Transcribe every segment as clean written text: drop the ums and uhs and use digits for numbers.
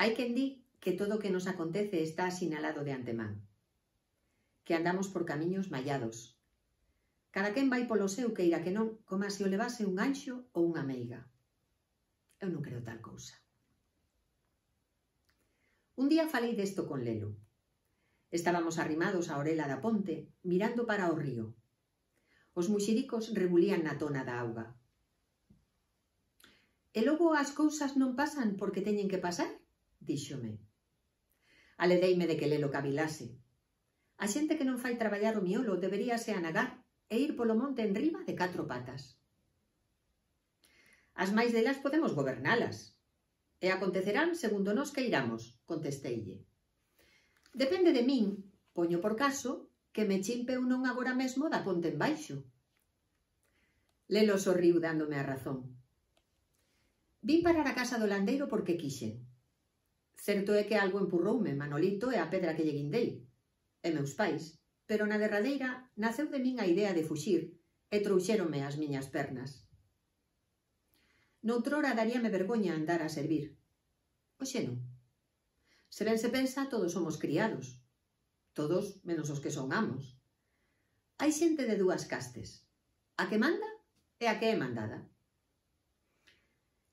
Hai quen di que todo o que nos acontece está asinalado de antemán, que andamos por camiños mallados. Cada quen vai polo seu, queira que non, como se o levase un anxo ou unha meiga. Eu non creo tal cousa. Un día falei desto con Lelo. Estábamos arrimados á orela da ponte, mirando para o río. Os muxiricos rebulían na tona da auga. E logo as cousas non pasan porque teñen que pasar, díxome. Aledeime de que Lelo cavilase. A xente que non fai traballar o miolo deberíase anagar e ir polo monte en riba de 4 patas. As máis delas podemos gobernalas, e acontecerán segundo nós queiramos, contesteille. Depende de min, poño por caso, que me chimpe un non agora mesmo da ponte en baixo. Lelo sorriu dándome a razón. Vin parar a casa do landeiro porque quixen. Certo é que algo empurroume Manolito e a pedra que lle guindei, e meus pais, pero na derradeira naceu de min a idea de fuxir e trouxéronme as miñas pernas. Noutrora daríame vergoña andar a servir. Oxe non. Se ben se pensa, todos somos criados. Todos menos os que son amos. Hai xente de dúas castes. A que manda e a que é mandada.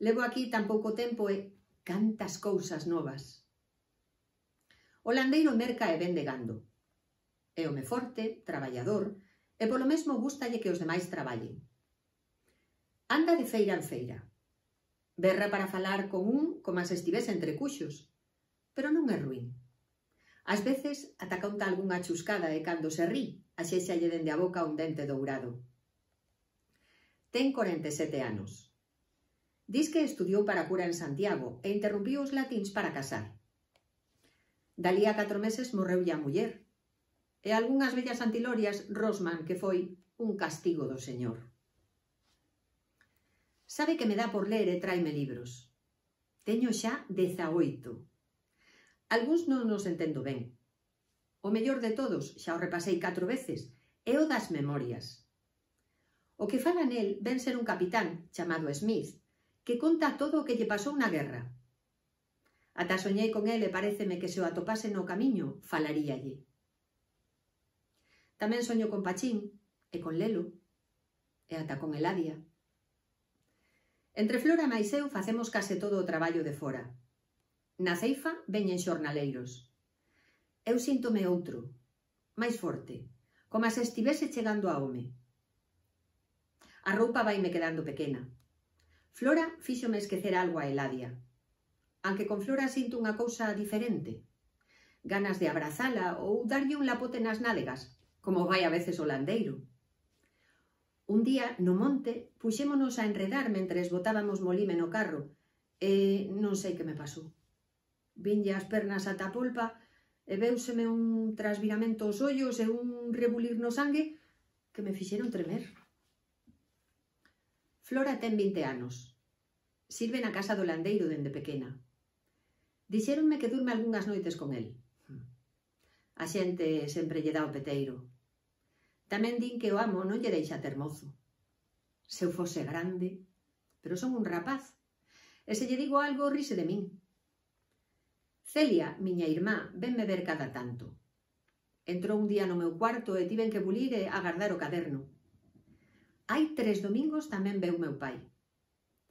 Levo aquí tan pouco tempo e cantas cousas novas. O landeiro merca e vende gando. É home forte, traballador, e polo mesmo gústalle que os demais traballen. Anda de feira en feira. Berra para falar con un como se estivese entre cuxos, pero non é ruín. Ás veces ata conta algunha chuscada e cando se rí, axéxalle dende a boca un dente dourado. Ten 47 anos. Dis que estudiou para cura en Santiago e interrumpiu os latíns para casar. Dalí a 4 meses morreulle a muller, e algunhas vellas antilorias rosman que foi un castigo do Señor. Sabe que me dá por ler e tráeme libros. Teño xa 18. Algúns non nos entendo ben. O mellor de todos, xa o repasei 4 veces, é o das memorias. O que fala nel ven ser un capitán chamado Smith, que conta todo o que lle pasou na guerra. Ata soñei con ele e paréceme que se o atopase no camiño, falaríalle. Tamén soño con Pachín, e con Lelo, e ata con Eladia. Entre Flora máis eu facemos case todo o traballo de fora. Na ceifa veñen xornaleiros. Eu síntome outro, máis forte, como se estivese chegando a home. A roupa vaime quedando pequena. Flora fíxome esquecer algo a Eladia. Aunque con Flora sinto unha cousa diferente. Ganas de abrazala ou darlle un lapote nas nádegas, como vai a veces o landeiro. Un día, no monte, puxémonos a enredar mentres botábamos molime no carro e non sei que me pasou. Vinlle as pernas ata a polpa e véuseme un trasviramento aos ollos e un rebulir no sangue que me fixeron tremer. Flora ten 20 anos. Sirve na casa do landeiro dende pequena. Dixéronme que durme algunhas noites con el. A xente sempre lle dá o peteiro. Tamén din que o amo non lle deixa ter mozo. Se eu fose grande, pero son un rapaz, e se lle digo algo rise de min. Celia, miña irmá, venme ver cada tanto. Entrou un día no meu cuarto e tiven que bulir e agardar o caderno. Hai 3 domingos tamén veu meu pai.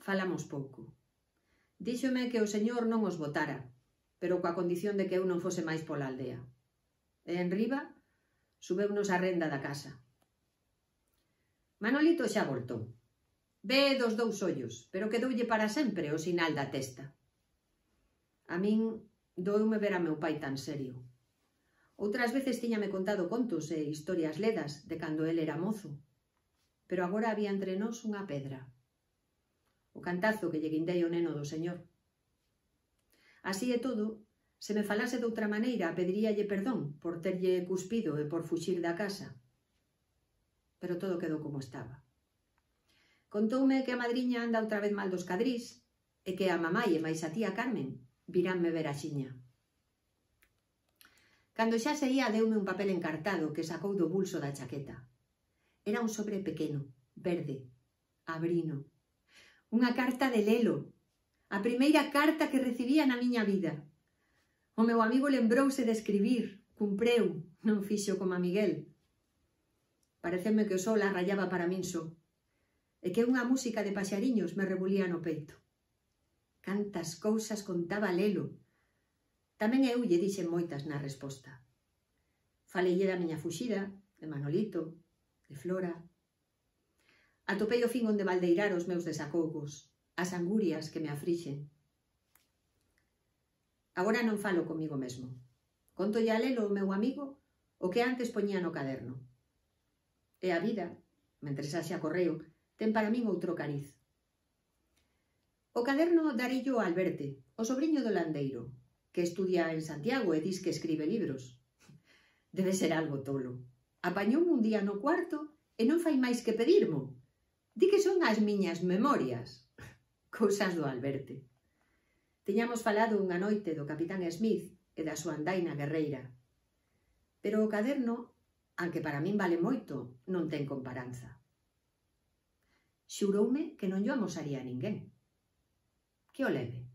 Falamos pouco. Díxome que o señor non os botara, pero coa condición de que eu non fose máis pola aldea. E en riba, subeunos a renda da casa. Manolito xa voltou. Ve dos 2 ollos, pero quedoulle para sempre o sinal da testa. A min doume ver a meu pai tan serio. Outras veces tiñame contado contos e historias ledas de cando el era mozo, pero agora había entre nós unha pedra. O cantazo que lle guindei o neno do señor. Así é todo, se me falase doutra maneira, pediríalle perdón por terlle cuspido e por fuxir da casa. Pero todo quedou como estaba. Contoume que a madriña anda outra vez mal dos cadrís e que a mamai e máis a tía Carmen viránme ver a xiña. Cando xa se ia, deume un papel encartado que sacou do bolso da chaqueta. Era un sobre pequeno, verde, abrino. Unha carta de Lelo, a primeira carta que recibía na miña vida. O meu amigo lembrouse de escribir, cumpreu, non fixo como a Miguel. Pareceme que o sol arrayaba para min só, e que unha música de paxariños me rebulía no peito. Cantas cousas contaba Lelo. Tamén eu lle dixen moitas na resposta. Faleille da miña fuxida, de Manolito, de Flora. Atopei o fin onde baldeirar os meus desacougos, as angurias que me afrixen. Agora non falo comigo mesmo. Contolle a Lelo, o meu amigo, o que antes poñía no caderno. E a vida, mentres haxa correo, ten para min outro cariz. O caderno darillo a Alberte, o sobrinho do landeiro, que estudia en Santiago e dis que escribe libros. Debe ser algo tolo. Apañoume un día no cuarto e non fai máis que pedirmo. Di que son as miñas memorias. Cousas do Alberte. Tiñamos falado unha noite do Capitán Smith e da súa andaina guerreira. Pero o caderno, aunque para min vale moito, non ten comparanza. Xuroume que non llo amosaría a ninguén. Que o leve.